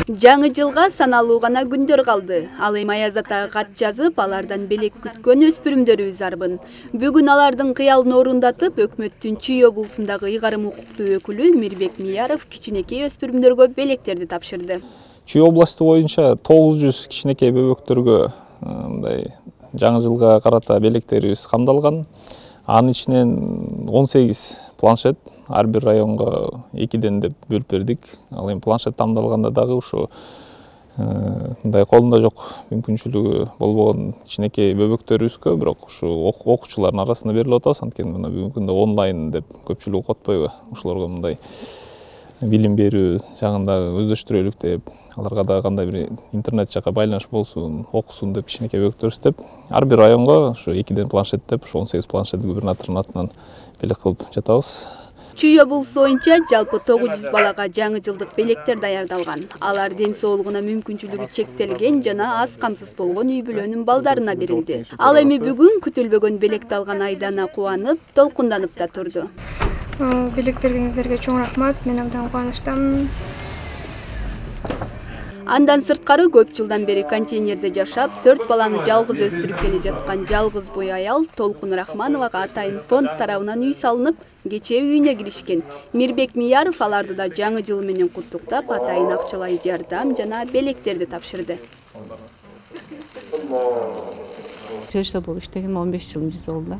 Жаңы жылга саналуу гана күндөр калды. Ал эми Аяз атага кат жазып, алардан белек күткөн өспүрүмдөрүбүз арбын. Бүгүн алардын кыялын орундатып, өкмөттүн Чүй облусундагы ыйгарым укуктуу өкүлү Мирбек Мияров кичинекей өспүрүмдөргө белектерди тапшырды. Чүй областы боюнча 900 кичинекей бөбөктөргө мындай жаңы жылга карата белектерибиз камдалган. Анын ичинен 18 планшет ар бир районго 2ден деп бөлүп бердик. Ал эми планшет камдалганда дагы ушу мындай колунда жок мүмкүнчүлүгү болбогон кичинекей бөбөктөрүбүзгө, бирок ушу окуучулардын арасында берилип атабыз. Анткени мына бүгүнкү күндө онлайн деп көпчүлүк окуп атпайбы? Ошолорго мындай билим берүү жагында өздөштүрөлүк деп, аларга дагы кандай бир интернет жака байланыш болсун, окусун деп кичинекей бөбөктөр издеп, ар бир районго ушу 2ден планшет деп, ушу 18 планшет губернатордун атынан белек кылып жатабыз. Чүй облусу боюнча жалпы 900 балага жаңы жылдык белектер даярдалган. Алар ден соолугуна мүмкүнчүлүгү чектелген жана аз камсыз болгон үй бүлөнүн балдарына берилди. Ал эми бүгүн күтүлбөгөн белекти алган Айдана кубанып, толкунданып да турду. Белек бергениңиздерге чоң рахмат. Мен абдан кубанычтамын. Андан сырткары көп жылдан бери контейнерде жашап, 4 баланы жалгыз өстүрүп келе жаткан жалгыз бой аял Толкун Рахмановага атайын фонд тарабынан үй салынып, кечээ үйүнө киришкен. Мирбек Мияров аларды да жаңы жыл менен куттуктап, атайын акчалай жардам жана белектерди тапшырды. Фельдшер болуп иштеген 15 жылым жүзү болду.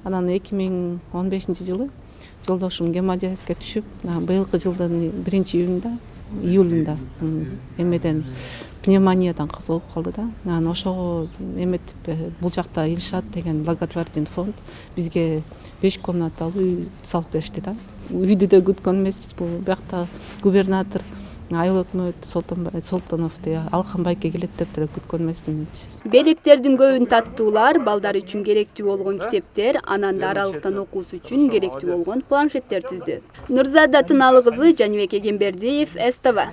Анан 2015-жылы жолдошум гемодиализге түшүп, быйылкы жылдын 1-июлунда эмеден пневмониядан каза болуп калды да. Анан ошого эметип бул жакта Илшат деген благотворительный фонд бизге 5 комнаталуу үй салып беришти да. Үйдү да күткөн эмеспиз, бул биякта губернатор айыл өкмөт Солтонов Алхан байке келет деп деле күткөн эмесмин. Белектердин көбүн таттуулар, балдар үчүн керектүү болгон китептер, анан да аралыктан окуусу үчүн керектүү болгон планшеттер түздү. Нурзада Тыналык кызы, Жаныбек Эгембердиев, СТВ.